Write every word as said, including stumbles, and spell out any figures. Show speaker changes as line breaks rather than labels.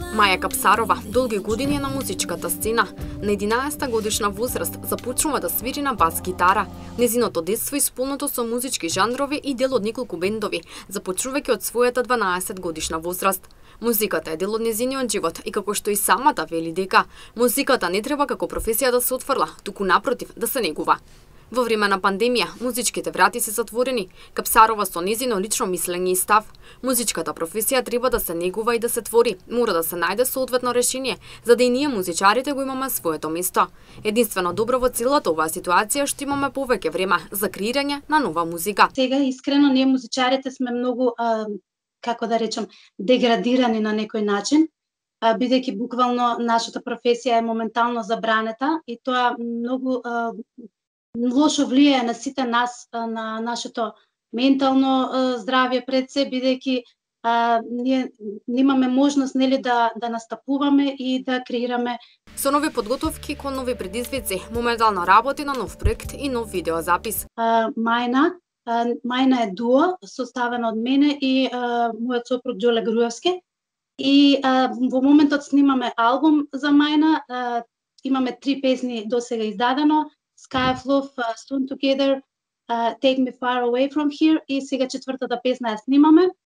Маја Капсарова долги години е на музичката сцена. На единаесетта годишна возраст започнува да свири на бас гитара. Незиното детство исполнето со музички жанрови и дел од неколку бендови, започнувајќи од својата дванаесет годишна возраст. Музиката е дел од незиниот живот и како што и самата вели дека музиката не треба како професија да се отфрла, туку напротив да се негува. Во време на пандемија, музичките врати се затворени. Капсарова со незино лично мислење и став. Музичката професија треба да се негува и да се твори. Мора да се најде соодветно решение, за да и ние музичарите го имаме своето место. Единствено добро во целата оваа ситуација што имаме повеќе време за креирање на нова музика.
Сега искрено ние музичарите сме многу а, како да речем деградирани на некој начин, а, бидејќи буквално нашата професија е моментално забранета и тоа многу а, лошо влијае на сите нас, на нашето ментално здравје пред се, бидејќи ние немаме можност нели да да настапуваме и да креираме.
Со нови подготовки кон нови предизвици, моментално работи на нов проект и нов видеозапис.
Мајна, Мајна е дуо составено од мене и а, мојот сопруг Џоле Груевски. И а, во моментот снимаме албум за Мајна, а, имаме три песни досега издадено. Sky of Love, uh, Stone Together, uh, Take Me Far Away From Here и сега четвртата песна ја снимаме.